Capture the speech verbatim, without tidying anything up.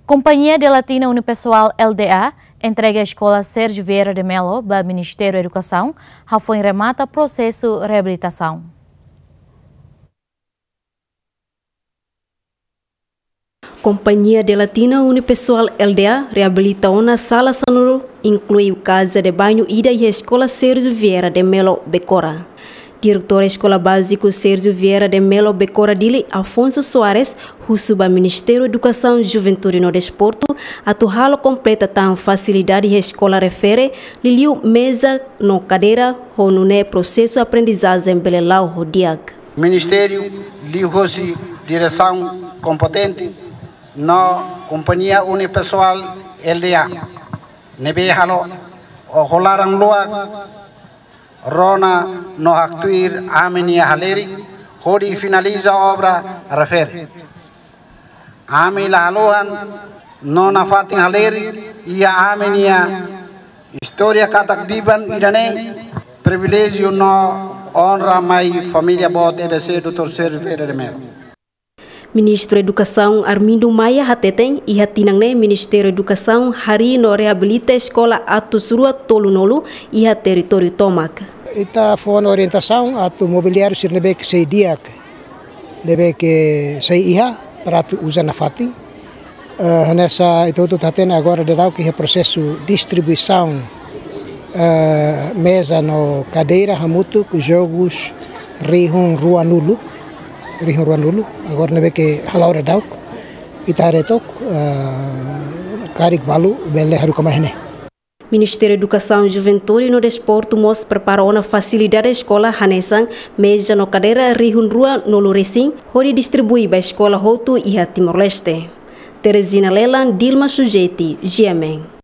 Kompañia de Latina Unipessoal L D A entrega Eskola Sérgio Vieira de Mello ba Ministériu Edukasaun, hafoin remata prosesu reabilitasaun. Kompañia de Latina Unipessoal L D A reabilita ona sala sanulu, inklui kaza de bañu ida iha Eskola Sérgio Vieira de Mello Becora. Diretór Eskola Báziku Sérgio Vieira de Mello Becora Dili, Afonso Soares, husu ba Ministériu Edukasaun, Juventude no Desportu atu halo kompleta tan fasilidade iha eskola refere, liuliu meza no kadeira, ho nune'e prosesu aprendizajen bele la'o ho di'ak. Ministériu liuhosi diresaun kompetente no Kompañia Unipessoal L D A ne'ebé halo, ho laran luak, rona no haktuir ami-nia halerik hodi finaliza obra refere. Ami la haluhan no nafatin halerik iha ami-nia istória katak biban ida-ne'e, priviléjiu no onra mai família boot E B C doutór Sérgio Vieira de Mello. Ministru Edukasaun Armindo Maia hateten, iha tinan ne'e Ministériu Edukasaun harii no reabilita eskola atus rua tolunulu iha territóriu tomak. Ita fó ona orientasaun atu mobiliáriu sira ne'ebé ke sei di'ak, ne'ebé ke sei iha para atu uza nafatin. Eh, hanesan ita hotu hatene agora daudaun ke iha prosesu distribuisaun, eh, meza no kadeira hamutuk jogus rihun ruanulu, rihun ruanulu. Agora ne'ebé ke hala'o daudauk, ita haree took, eh, karik balu bele haruka mai iha ne'e. Ministériu Edukasaun, Juventude no Desportu mós prepara ona fasilidade eskola hanesan meza no kadeira rihun ruanulu resin hodi distribui ba eskola hotu iha Timor-Leste. Teresina Lelan, Dilma Sujeti, G M N.